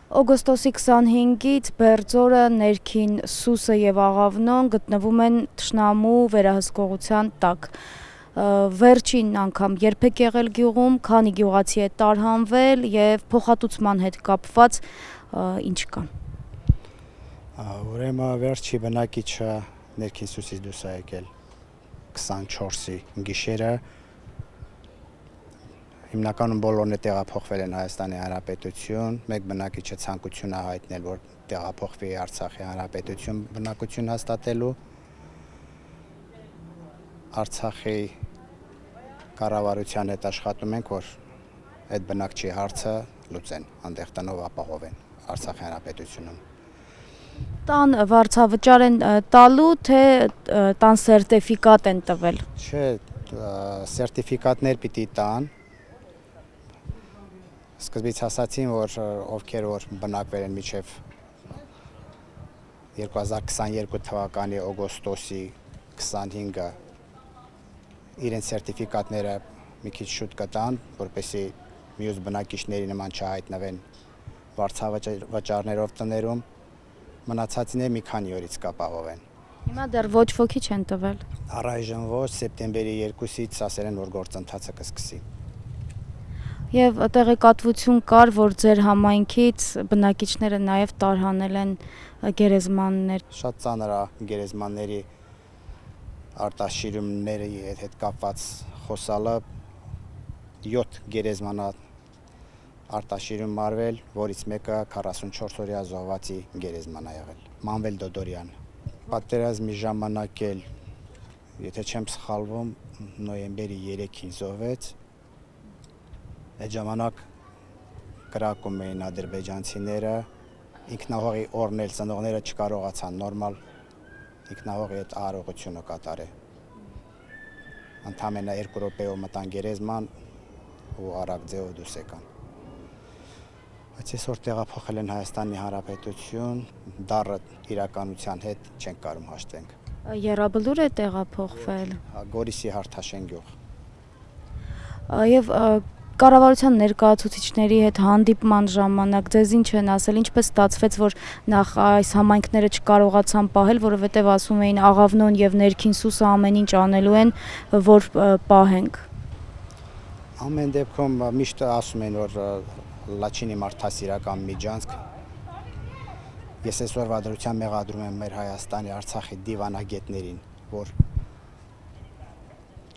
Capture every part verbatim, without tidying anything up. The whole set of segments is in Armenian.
Օգոստոսի քսանհինգից Բերձորը, Ներքին Սուսը եւ Աղավնոն գտնվում են թշնամու վերահսկողության տակ։ Վերջին անգամ երբեք եղել գյուղում, քանի գյուղացի է տարհանվել եւ փոխհատուցման հետ կապված ինչ կա։ Ուրեմն վերջի բնակիչը Ներքին Սուսից դուրս է եկել քսանչորսի գիշերը։ Հիմնականում բոլորն է տեղափոխվել են Հայաստանի Հանրապետություն, մեկ բնակիչը ցանկություն է հայտնել, որ տեղափոխվի Արցախի Հանրապետություն բնակություն հաստատելու։ Արցախի կառավարության հետ աշխատում ենք, որ այդ բնակչի հարցը լուծեն, այնտեղ տնով ապահովեն Արցախի Հանրապետությունում։ Տան վարձավճար են տալու, թե տան սերտիֆիկատ են տվել։ Չէ, սերտիֆիկատներ պիտի տան։ Սկզբից ասացին, որ ովքեր որ բնակվել են մինչև երկու հազար քսաներկու թվականի օգոստոսի քսանհինգը իրենց սերտիֆիկատները մի քիչ շուտ կտան, որպեսզի մյուս բնակիչների նման չհայտնվեն վարձավճարներով տներում, մնացածները մի քանի օրից կապահովեն։ Հիմա դեռ ոչ ոքի չեն տվել։ Առայժմ ոչ, սեպտեմբերի երկուսից ասել են, որ գործընթացը կսկսի։ Եվ տեղեկատվություն կար, որ ձեր համայնքից բնակիչները նաև տարհանել են գերեզմաններ։ Շատ ծանր է գերեզմանների արտաշիրումների հետ կապված խոսալը, յոթ գերեզմանա արտաշիրում մարվել, որից մեկը քառասունչորս օրյա զոհվածի գերեզման է եղել։ Մանվել Դոդորյան։ Պատերազմի ժամանակ էլ, եթե չեմ սխալվում, նոյեմբերի երեքին զոհվեց։ Այդ ժամանակ կրակում էին ադրբեջանցիները, ինքնահողի օրն էլ ծնողները չկարողացան նորմալ ինքնահողի այդ արարողությունը կատարել։ Ընդամենը երկու րոպեով մտան գերեզման ու արագ ձևով դուրս եկան։ Բայց այսօր տեղափոխել են Հայաստանի Հանրապետություն, դառը իրականության հետ չենք կարող հաշտվենք։ Եռաբլուր է տեղափոխվել։ Գորիսի Հարթաշեն գյուղ։ Եվ կառավարության ներկայացուցիչների հետ հանդիպման ժամանակ ձեզ ինչ են ասել, ինչպես ստացվեց, որ նախ այս համայնքները չկարողացան պահել, որովհետև ասում էին Աղավնոն եւ Ներքին Սուսը ամեն ինչ անելու են, որ պահենք։ Ամեն դեպքում միշտ ասում են, որ Լաչինի մարդասիրական միջանցք։ Ես այսօր վադրության մեղադրում եմ մեր Հայաստանի Արցախի դիվանագետներին, որ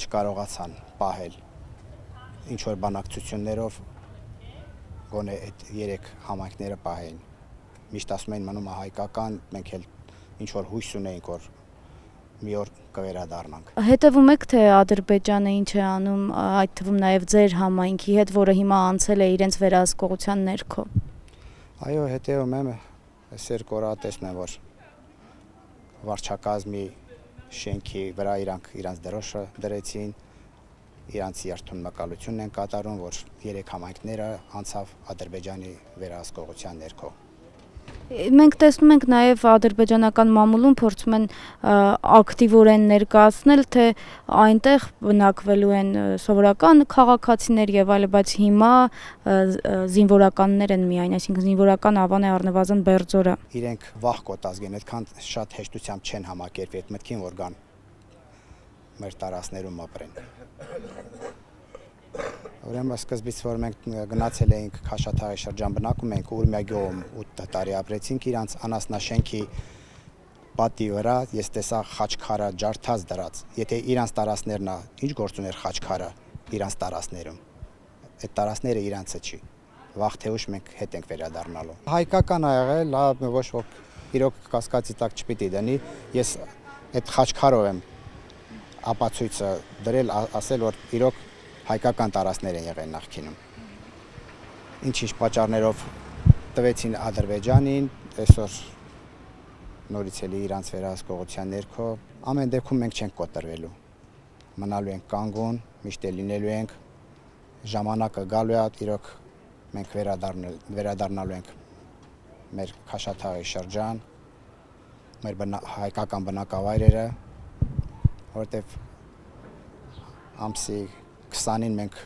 չկարողացան պահել ինչ որ բանակցություններով գոնե այդ երեք համայնքները պահեն։ Միշտ ասում են մնում է հայկական, մենք էլ ինչ որ հույս ունեինք, որ մի օր կվերադառնանք։ Հետևում եք, թե Ադրբեջանը ինչ է անում, այդ թվում նաև ձեր համայնքի հետ, որը հիմա անցել է իրենց վերահսկողության ներքո։ Այո, հետևում եմ, այս երկու օր տեսնում եմ, որ վարչակազմի շենքի վրա իրանք իրանց դրոշը դրեցին, իրանց երթուն մկալությունն են կատարում, որ երեք համայնքները անցավ Ադրբեջանի վերահսկողության ներքո։ Մենք տեսնում ենք նաև ադրբեջանական մամուլում փորձում են ակտիվորեն ներկայացնել, թե այնտեղ բնակվելու են սովորական քաղաքացիներ եւ այլը, բայց հիմա զինվորականներ են միայն, այսինքն զինվորական ավան է առնվազն Բերձորը։ Իրենք վախ կոտազգ են, այդքան շատ հեշտությամբ չեն համակերպվի այդ մտքին, որ գան մեր տարածներում ապրեն։ Ուրեմն սկզբից որ մենք գնացել էինք Քաշաթաղի շրջան բնակում էինք Ուրմիա գյուղում ութ տարի ապրեցինք, իրանց անասնաշենքի պատի վրա ես տեսա խաչքարը ջարդած դրած։ Եթե իրանց տարածներն է, ինչ գործ ուներ խաչքարը իրանց տարածներում։ Այդ տարածները իրանցը չի։ Վաղ թե ուշ մենք հետ ենք վերադառնալու։ Հայկական ա եղել, ոչ ոք իրոք կասկածի տակ չպիտի դնի։ Ես այդ խաչքարով եմ ապացույցը դրել, ասել, որ իրոք հայկական տարածներ են եղել նախկինում։ Ինչ-ինչ պատճառներով տվեցին Ադրբեջանին, այսօր նորից էլի իրանց վերահսկողության ներքո, ամեն դեպքում մենք չենք կոտրվելու։ Մնալու ենք կանգուն, միշտ էլ լինելու ենք, ժամանակը գալու է, իրոք մենք վերադառնալու ենք մեր Քաշաթաղի շրջան, մեր հայկական բնակավայրերը, որտեղ ամսի քսանին մենք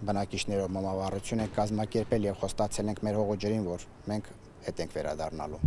բնակիչներով մամավառություն ենք կազմակերպել եւ խոստացել ենք մեր հողոջերին, որ մենք հետ ենք վերադառնալու։